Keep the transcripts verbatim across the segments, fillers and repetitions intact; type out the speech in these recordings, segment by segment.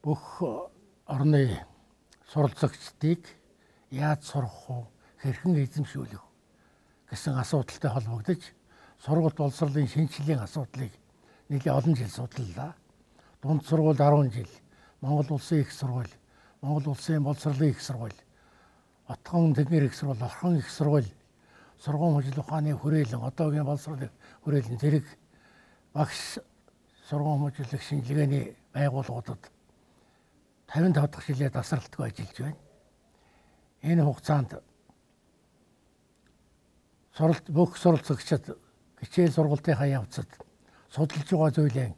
бүх орны суралцагчдыг яаж сурах уу, хэрхэн эзэмшүүлэх гэсэн асуудалтай холбогдож сургалт боловсролын шинжилгээний асуудлыг нэлээд олон жил судаллаа. Дунд сургууль арван жил, Монгол улсын их сургууль, Монгол улсын боловсролын их сургууль, Отгон тэнгэр их сургууль, Орхон их сургууль, сургууль хөгжил ухааны хүрээлэн, одоогийн боловсролын хүрээлэн зэрэг багш сургууль хөгжлөх шинжилгээний байгууллагуудад тавин тав дахь жилээр тасралтгүй ажиллаж байна. Энэ хугацаанд суралт бүх суралцагчид хичээл сургалтынхаа явцад судалж байгаа зүйлээ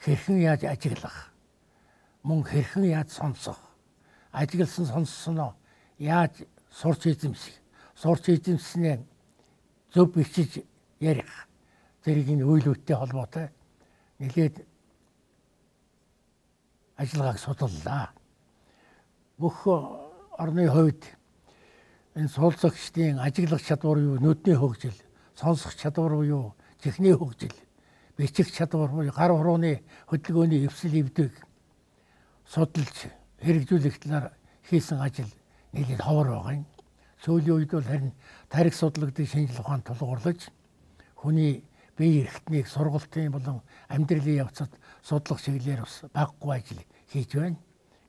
хэрхэн яаж ажиглах, мөн хэрхэн яаж сонсох, ажигласан сонссноо яаж сурч эзэмших, сурч эзэмснээ зөв бичиж ярих зэрэг энэ үйлдэлтэй холбоотой нэлээд ажиллагааг судаллаа. Бүх орны хувьд энэ суралцагчдын ажиглах чадвар юу, нүдний хөгжил, сонсох чадвар юу, чихний хөгжил, бичих чадвар буюу гар хурууны хөдөлгөөний эвсэл эвдэг судалж хэрэгжүүлэх талаар хийсэн ажил нэлээд ховор байгаа юм. Сүүлийн үед бол харин тарих судлагдсан шинжлэх ухаанд тулгуурлаж хүний бие эрхтнийг сургалтын болон амьдралын явцад судлах чиглэлээр бас баггүй ажил хийж байна.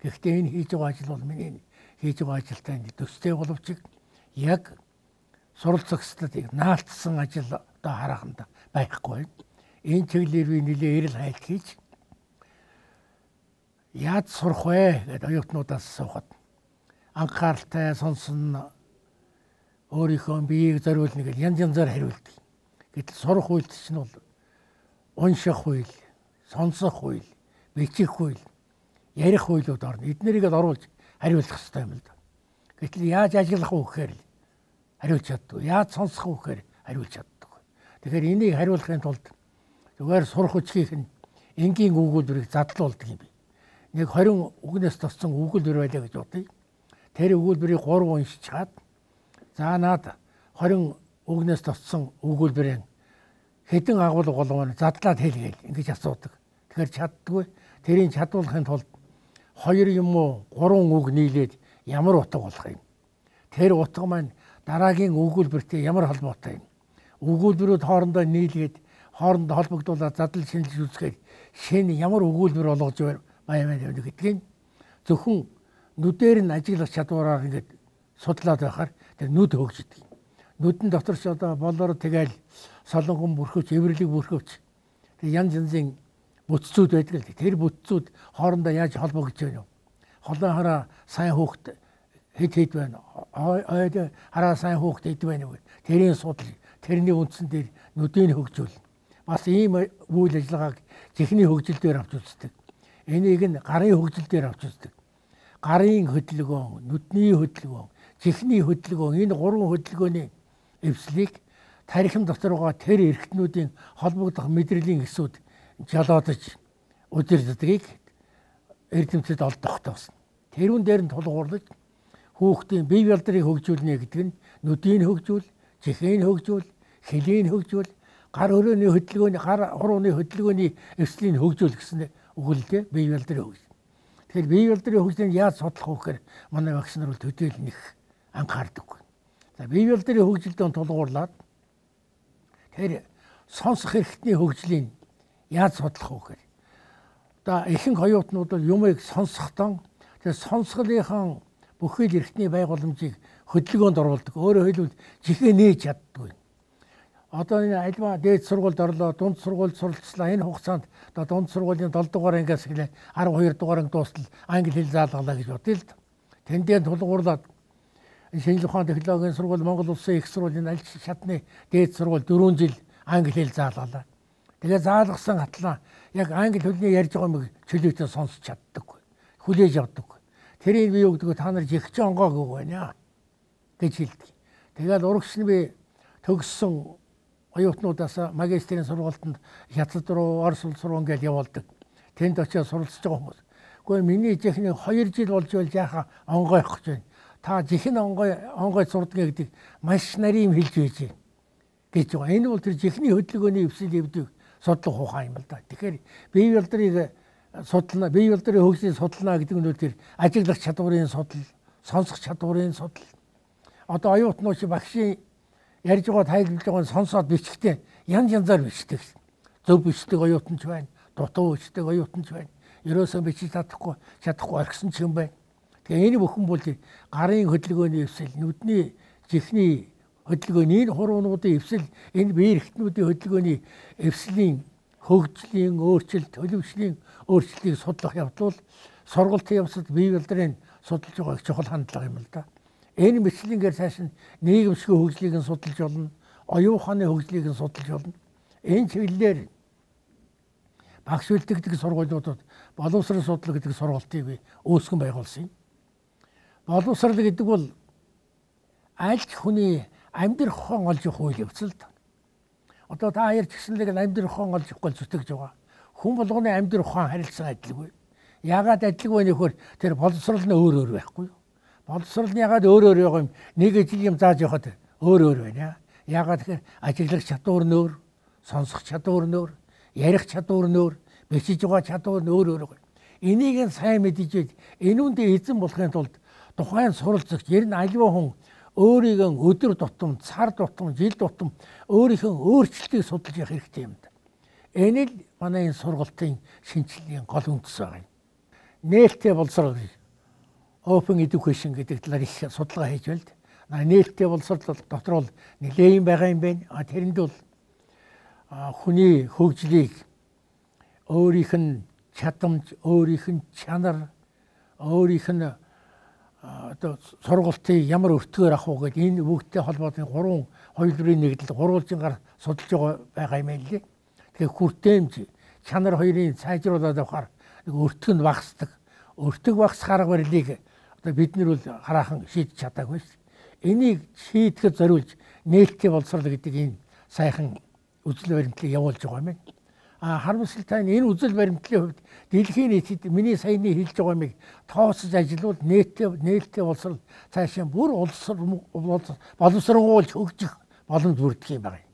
Гэхдээ энэ хийж байгаа ажил бол миний хийж байгаа ажилтай төстэй боловч яг суралцагчдыг наалтсан ажил одоо хараханд байхгүй. Энэ чиглэлээр би нэлээд эрэл хайлт хийж яаж сурах вэ гэдэг оюутнуудаас асуухад анхааралтай сонсон өөрийнхөө биеийг зориулна гэж янз янзаар хариулдаг. Гэтэл сурах үйлдэл чинь бол унших үйл, сонсох үйл, бичих үйл, ярих үйлүүд орно. Эднэрийг л оруулж хариулах хэрэгтэй юм л да. Гэтэл яаж ажиллах вэ гэхээр хариулж чаддаг. Яаж сонсох вэ гэхээр хариулж чаддаг. Тэгэхээр энийг хариулахын тулд зүгээр сурах хүчийг нь энгийн өгүүлбэрийг задлуулдаг юм би. Нэг хорин үгнээс туссан өгүүлбэр байлаа гэж бодъё. Тэр өгүүлбэрийг гурав уншиж чад. За наад хорин үгнээс туссан өгүүлбэрийн хэдэн агуулга болгоно задлаад хэлгээл ингэж асуудаг. Тэгэхээр чаддгүй. Тэрийг чадуулахын тулд хоёр юм уу гурван үг нийлээд ямар утга болох юм. Тэр утга маань дараагийн өгүүлбэртэй ямар холбоотой юм. Өгүүлбэрүүд хоорондоо нийлгээд хоорондоо холбогдуулаад задлал шинжилж үзэхээр шинэ ямар өгүүлбэр болгож байна гэдгийг зөвхөн нүдээр нь ажиглах чадвараар ингэж судлаад байхаар тэр нүд хөгждөг. Нүдэн дотор ч одоо болоор тэгэл солонгон бүрхөвч, эвэрлэг бүрхөвч тэг янз янзын бүтцүүд байдаг л. Тэр бүтцүүд хоорондоо яаж холбогдож байна вэ? Холон хараа сайн хөөхт хэд хэд байна. Ойд хараа сайн хөөхт хэд байна вэ? Тэрийн судал, тэрний үндсэн дээр нүдийг хөгжүүл. Бас ийм үйл ажиллагааг чихний хөгжил дээр авч үздэг. Энийг нь гарын хөгжил дээр авч үздэг. Гарын хөдөлгөөн, нүдний хөдөлгөөн, чихний хөдөлгөөн, энэ гурван хөдөлгөөний эвслийг тархин дотор байгаа тэр эрхтнүүдийн холбогдох мэдрэлийн эсүүд жолоодож удирддгийг эрдэмтэд олдох тоосно. Тэрүүн дээр нь тулгуурлаж хүүхдийн бие балдрыг хөгжүүлнэ гэдэг нь нүдийг хөгжүүл, чихийг хөгжүүл, хэлийг хөгжүүл, гар хөрөөний хөдөлгөөний гар хурууны хөдөлгөөний эвслийг хөгжүүл гэсэн өгүүлэлтэй бие балдрыг хөгжүүл. Тэгэхээр бие балдрын хөгжлийг яаж судлах вэ гэхээр манай багш нар бол төдийл нэх анхаардаг. За бие балдрын хөгжилдөө тулгуурлаад тэр сонсох эрхтний хөгжлийг яаж судлах вэ гэхээр одоо ихэнх оюутнууд бол юмыг сонсохдоо тэр сонсголынхаа бүхэл эрхтний байгууламжийг хөдөлгөөнд оруулдаг. Өөрөөр хэлбэл чихээ нээж чаддгүй. Одоо энэ альва дээд сургуульд орлоо, дунд сургуульд суралцлаа. Энэ хугацаанд одоо дунд сургуулийн долоо дугаар ангиас эхлээ арав хоёр дугаар анги дуустал англи хэл заалгалаа гэж бодъё л да. Тэндээ тулгуурлаад шинжлэх ухааны технологийн сургууль, Монгол улсын их сургуулийн аль шатны дээд сургууль дөрвөн жил англи хэл заалгалаа. Тэгээ заалгасан хатлаа яг англи хэлний ярьж байгаа юм чөлөөтэй сонсч чаддаг. Хүлээж авдаг. Тэрийг би юу гэдэг вэ? Та нар жигч онгоо гэх байна гэж хэлдэг. Тэгээд урагш нь би төгссөн оюутнуудаас магистрийн сургалтанд Хятад руу, Орос улс руу ингээд явуулдаг. Тэнд очиод суралцж байгаа хүмүүс. Гэхдээ миний жихний хоёр жил болж байл жаахан онгой авах гэж байна. Та жихэн онгой онгой сурдаг гэдэг маш нарийн хэлж байж гэж байгаа. Энэ бол тэр жихний хөдөлгөөний эвсэл эвдэг судлах ухаан юм л да. Тэгэхээр бие балдрыг судална, бие болдрын хөгжлийн судална гэдэг нь тэр ажиглах чадварын судал, сонсох чадварын судал. Одоо оюутнууд багшийн ярьж байгаа тайлбарлаж байгааг сонсоод бичихтэй янз янзаар бичдэг. Зөв бичдэг оюутанч байна, дутуу бичдэг оюутанч байна. Ерөөсөө бичиж чадахгүй, чадахгүй орхисон ч юм байна. Тэгээ энэ бүхэн бол гарын хөдөлгөөний эвсэл, нүдний чихний хөдөлгөөний энэ хуруунуудын эвсэл, энэ бие эрхтнүүдийн хөдөлгөөний эвслийн хөгжлийн өөрчлөлт, төлөвшлийн өөрчлөлтийг судлах явдал сургалтын явцад бие болдрын судалж байгаа чухал хандлага юм л да. Энэ мэтлэнгээр цааш нь нийгэмшгүй хөгжлийг нь судалж болно, оюун ухааны хөгжлийг нь судалж болно. Энэ чиглэлээр багш бэлтгэдэг сургуулиудад боловсрол судлал гэдэг сургалтыг би үүсгэн байгуулсан юм. Боловсрол гэдэг бол аль ч хүний амьдрах ухаан олж явах үйл явц л да. Одоо та хоёр ч гэсэнлэг амьдрах ухаан олж явахгүй зүтгэж байгаа. Хүн болгоны амьдрах ухаан харилцан адилгүй. Яагаад адилгүй вэ нөхөр тэр боловсрол нь өөр өөр байхгүй юу? Боловсрол нь яагаад өөр өөр байгаа юм? Нэг ижил юм зааж явахад өөр өөр байна. Яагаад тэгэхээр ажиглах чадвар нь өөр, сонсох чадвар нь өөр, ярих чадвар нь өөр, бичиж байгаа чадвар нь өөр өөр байна. Энийг нь сайн мэдэж, энүүндээ эзэн болохын тулд тухайн суралцагч ер нь аливаа хүн өөрийгөө өдөр тутам, сар тутам, жил тутам өөрийнхөө өөрчлөлтийг судалж явах хэрэгтэй юм да. Энэ л манай энэ сургалтын шинжилгээний гол үндэс байгаа юм. Нээлттэй боловсрол, open education гэдэг талаар их судалгаа хийж байна. Нээлттэй боловсрол дотор бол нэлээд байгаа юм байна. А тэрэнд бол хүний хөгжлийг өөрийнх нь чадамж, өөрийнх нь чанар, өөрийнх нь одоо сургалтыг ямар өртгөөр авах уу гэдэг энэ бүгдтэй холбоотой гурван хоёрын нэгдэл гурвалжингаар судалж байгаа юм лээ. Тэгэхээр хүртээмж чанар хоёрын сайжруулаад авахаар нэг өртөг нь багасдаг. Өртөг багасах арга барилыг одоо бид нар бол хараахан шийдэж чадаагүй шүү. Энийг шийдэхэд зориулж нээлттэй боловсрол гэдэг энэ сайхан үзэл баримтлалыг явуулж байгаа юм байна. А харамсалтай нь энэ үзэл баримтлалын хувьд дэлхийн нийтэд миний саяны хэлж байгаа юмыг тооцож ажиллавал нээлттэй нээлттэй боловсрол цаашаа бүр улс боловсруулж хөгжих боломж бүрдэх юм байна.